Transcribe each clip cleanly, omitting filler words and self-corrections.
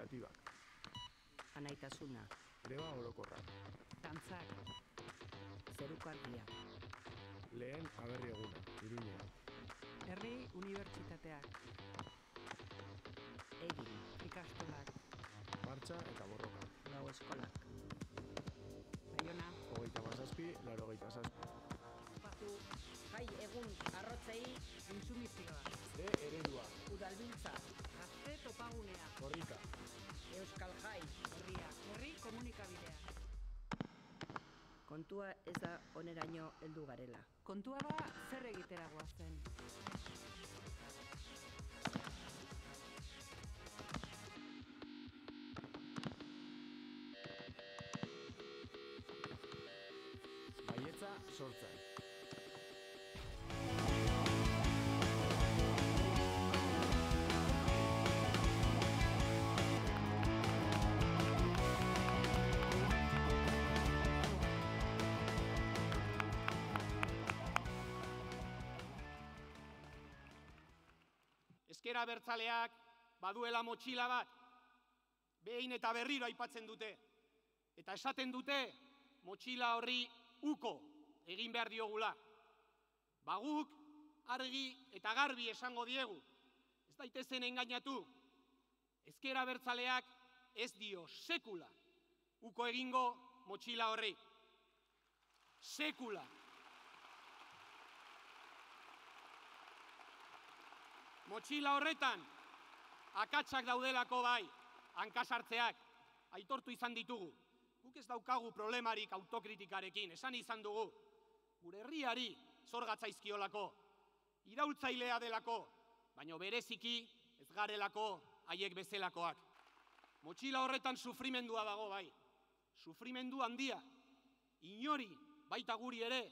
kooperatibak. Anaitasuna. Greba orokorrak. Dantzak. Zerukardia. Lehen aberri eguna, Iruñean. Herri unibertsitateak. Egin. Ikastolak. Martxa eta borroka. Gau eskolak. Baiona. 37-87. Batu. Jai egun arrotzei. Insumizioa. De eredua. Udalbiltza. Gazte topagunea. Korrika. Euskal Jai. Herria. Herri komunikabidea. Kontua ez da oneraino heldu garela. Kontua da zer egitera goazen. Baietza sortzen. Ezker Abertzaleak baduela motxila bat, behin eta berriro aipatzen dute. Eta esaten dute motxila horri uko egin behar diogula. Baguk argi eta garbi esango diegu. Ez daitezen engainatu. Ezker Abertzaleak ez dio sekula uko egingo motxila horri. Sekula. Motxila horretan, akatsak daudelako bai, hankasartzeak, aitortu izan ditugu. Guk ez daukagu problemarik autokritikarekin, esan izan dugu. Gure herriari zorgatzaizkiolako, iraultzailea delako, baina bereziki ez garelako haiek bezelakoak. Motxila horretan sufrimendua dago bai, sufrimendu handia, inori baita guri ere,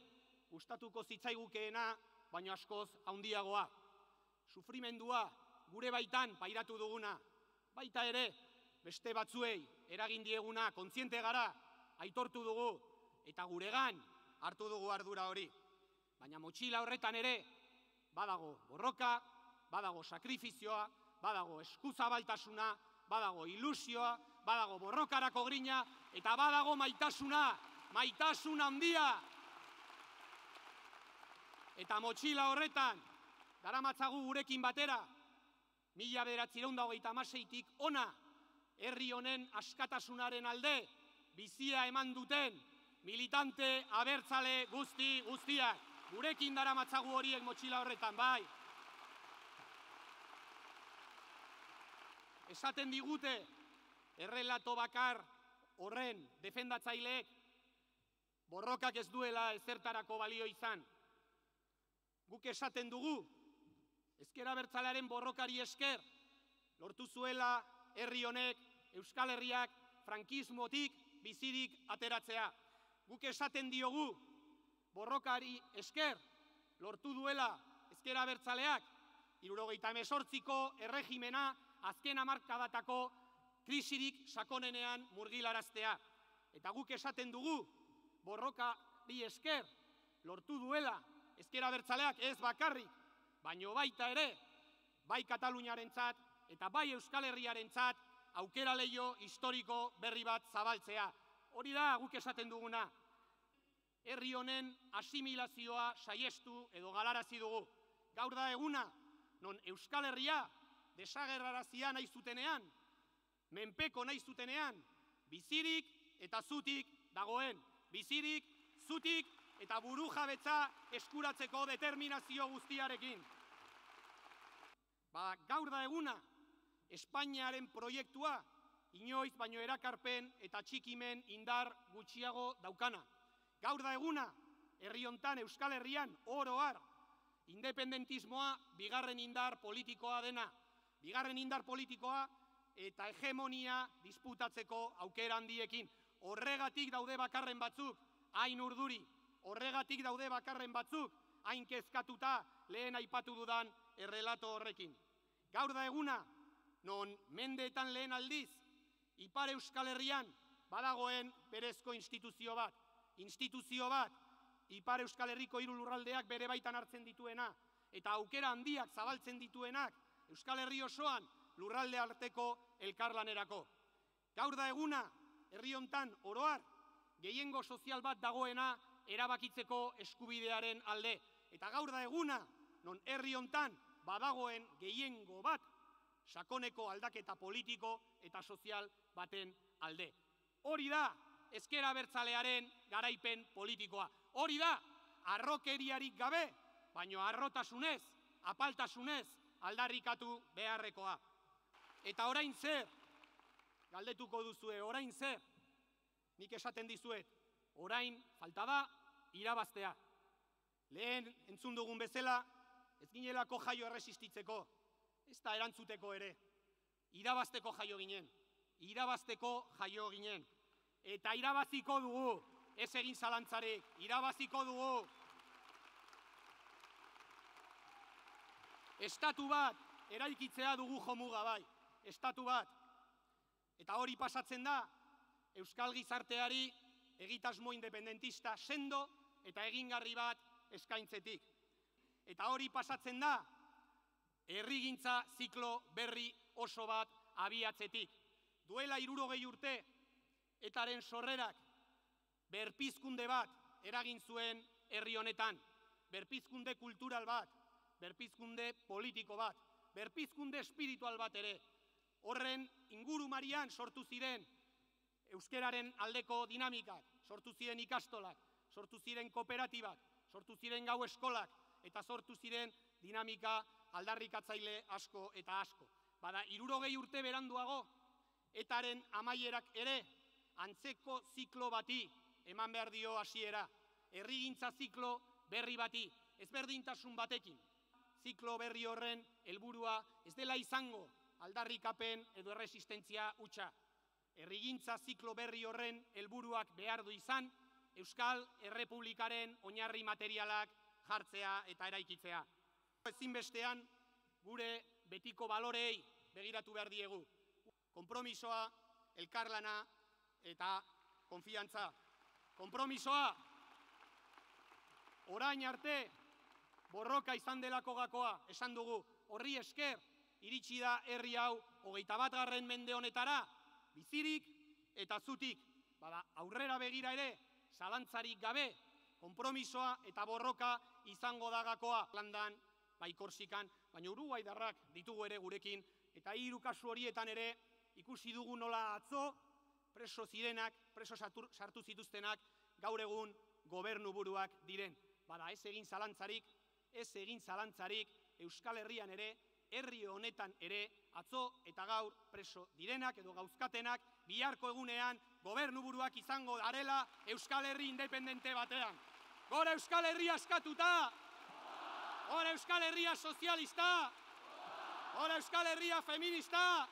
gustatuko zitzaigukeena, baina askoz handiagoa. Sufrimendua gure baitan pairatu duguna, baita ere beste batzuei eragin dieguna kontziente gara, aitortu dugu eta guregan hartu dugu ardura hori. Baina motxila horretan ere badago borroka, badago sakrifizioa, badago eskuzabaltasuna, badago ilusioa, badago borrokarako grina eta badago maitasuna, maitasuna handia. Eta motxila horretan daramatzagu gurekin batera, 1926tik ona, herri honen askatasunaren alde, bizia eman duten, militante abertzale guztiak. Gurekin daramatzagu horiek motxila horretan, bai. Esaten digute, errelato bakar horren defendatzaileek, borrokak ez duela ezertarako balio izan. Guk esaten dugu, Ezker Abertzalearen borrokari esker, lortu zuela herri honek, Euskal Herriak, frankismotik bizirik ateratzea. Guk esaten diogu, borrokari esker, lortu duela Ezker Abertzaleak, 78ko erregimena azken hamarkadatako krisirik sakonenean murgilaraztea. Eta guk esaten dugu, borrokari esker, lortu duela Ezker Abertzaleak ez bakarrik, baino baita ere, bai Kataluniarentzat eta bai Euskal Herriarentzat aukera leiho historiko berri bat zabaltzea. Hori da guk esaten duguna. Herri honen asimilazioa saiestu edo galarazi dugu. Gaur da eguna, non Euskal Herria desagerrarazia nahi zutenean, menpeko nahi zutenean, bizirik eta zutik dagoen. Bizirik, zutik eta burujabetza eskuratzeko determinazio guztiarekin. Gaur da eguna, Espainiaren proiektua inoiz baino erakarpen eta txikimen indar gutxiago daukana. Gaur da eguna, herri hontan Euskal Herrian oro har, independentismoa bigarren indar politikoa dena. Bigarren indar politikoa eta hegemonia disputatzeko aukera handiekin. Horregatik daude bakarren batzuk, hain urduri. Horregatik daude bakarren batzuk, hain kezkatuta lehen aipatu dudan errelato horrekin. Gaur da eguna, non mendeetan lehen aldiz, Ipar Euskal Herrian badagoen berezko instituzio bat. Instituzio bat, Ipar Euskal Herriko 3 lurraldeak bere baitan hartzen dituena, eta aukera handiak zabaltzen dituenak, Euskal Herri osoan lurralde arteko elkarlanerako. Gaur da eguna, herri hontan oroar, gehiengo sozial bat dagoena erabakitzeko eskubidearen alde. Eta gaur da eguna, non herri hontan badagoen gehiengo bat, sakoneko aldaketa politiko eta sozial baten alde. Hori da, ezker abertzalearen garaipen politikoa. Hori da, harrokeriarik gabe, baino harrotasunez, apaltasunez aldarrikatu beharrekoa. Eta orain zer, galdetuko duzue, orain zer, nik esaten dizuet, orain falta da irabaztea. Lehen entzun dugun bezala, ez ginelako jaio erresistitzeko, ez da erantzuteko ere. Irabazteko jaio ginen, irabazteko jaio ginen. Eta irabaziko dugu, ez egin zalantzarik, irabaziko dugu. Estatu bat eraikitzea dugu jomuga bai, estatu bat. Eta hori pasatzen da, euskal gizarteari egitasmo independentista sendo eta egingarri bat eskaintzetik. Eta hori pasatzen da, herrigintza ziklo berri oso bat abiatzetik. Duela 60 urte, etaren sorrerak berpizkunde bat eragin zuen herri honetan. Berpizkunde kultural bat, berpizkunde politiko bat, berpizkunde espiritual bat ere. Horren ingurumarian sortu ziren euskeraren aldeko dinamikak, sortu ziren ikastolak, sortu ziren kooperatibak, sortu ziren gau eskolak, eta sortu ziren dinamika aldarrikatzaile asko eta asko. Bada, 60 urte beranduago, etaren amaierak ere, antzeko ziklo bati eman behar dio hasiera. Herrigintza ziklo berri bati, ezberdintasun batekin. Ziklo berri horren helburua ez dela izango aldarrikapen edo erresistentzia hutsa. Herrigintza ziklo berri horren helburuak behar du izan, Euskal Errepublikaren oinarri materialak jartzea eta eraikitzea. Ezinbestean gure betiko balorei begiratu behar diegu. Konpromisoa, elkarlana eta konfiantza. Konpromisoa, orain arte, borroka izan delako gakoa, esan dugu, horri esker, iritsi da herri hau 21. mende honetara, bizirik eta zutik. Bada, aurrera begira ere, zalantzarik gabe, konpromisoa eta borroka izango da gakoa. Landan, bai Korsikan, baina uruguaidarrak ditugu ere gurekin, eta 3 kasu horietan ere, ikusi dugu nola atzo, preso zirenak, preso sartu zituztenak, gaur egun gobernuburuak diren. Bada, ez egin zalantzarik, Euskal Herrian ere, herri honetan ere, atzo eta gaur preso direnak edo gauzkatenak, biharko egunean gobernuburuak izango darela Euskal Herri independente batean. Gora Euskal Herria askatuta! Gora Euskal Herria sozialista! Gora Euskal Herria feminista!